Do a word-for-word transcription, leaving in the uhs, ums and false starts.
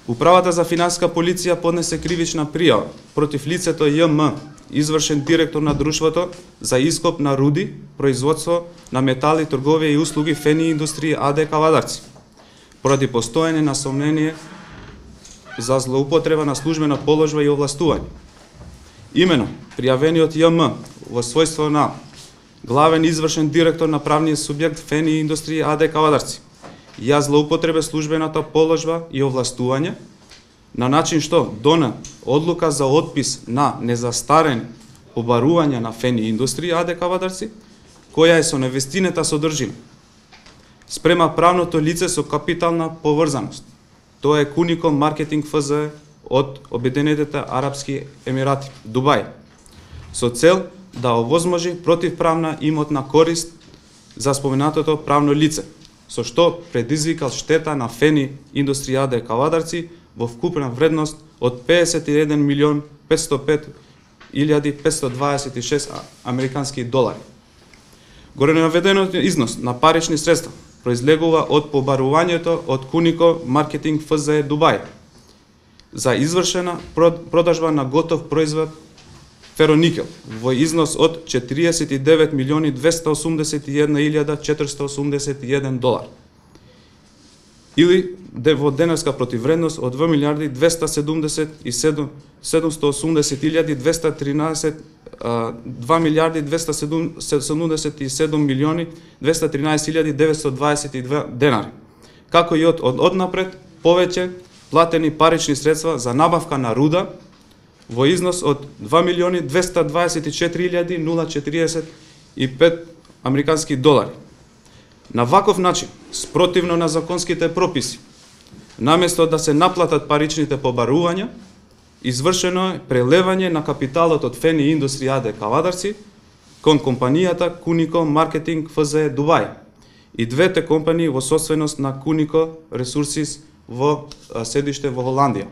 Управата за финансиска полиција поднесе кривична пријава против лицето Ј М, извршен директор на друштвото за ископ на руди, производство на метали, трговија и услуги Фени индустрија А Д Кавадарци, поради постоење на сомнение за злоупотреба на службена положба и овластување. Имено, пријавениот Ј М во својство на главен извршен директор на правниот субјект Фени индустрија А Д Кавадарци ја злоупотребе службената положба и овластување на начин што дона одлука за отпис на незастарени побарувања на Фени индустрија А Д Кавадарци, која е со невестината содржина спрема правното лице со капитална поврзаност. Тоа е Кунико Маркетинг Ф З од Обединетите Арапски Емирати, Дубај, со цел да овозможи противправна имотна корист за споменатото правно лице, со што предизвикал штета на Фени индустрија А Д Кавадарци во вкупна вредност од педесет и еден милион петстотини и пет илјади петстотини дваесет и шест американски долари. Горенаведениот износ на парични средства произлегува од побарувањето од Кунико Маркетинг Ф З Дубај за извршена продажба на готов производ фероникел во износ од четиридесет и девет милиони двеста осумдесет и една илјада четириста осумдесет и еден долар, или во денарска противвредност од два милијарди двеста седумдесет и седум седумстотини осумдесет илјади двеста тринаесет два милијарди двеста седумдесет и седум милиони двеста тринаесет илјади деветстотини дваесет и две денари, како и од однапред повеќе платени парични средства за набавка на руда во износ од два милиони двеста дваесет и четири илјади четиридесет и пет американски долари. На ваков начин, спротивно на законските прописи, наместо да се наплатат паричните побарувања, извршено е прелевање на капиталот од Фени индустрија А Д Кавадарци кон компанијата Кунико Маркетинг Ф З Дубај и двете компании во собственост на Кунико Ресурсис во седиште во Холандија.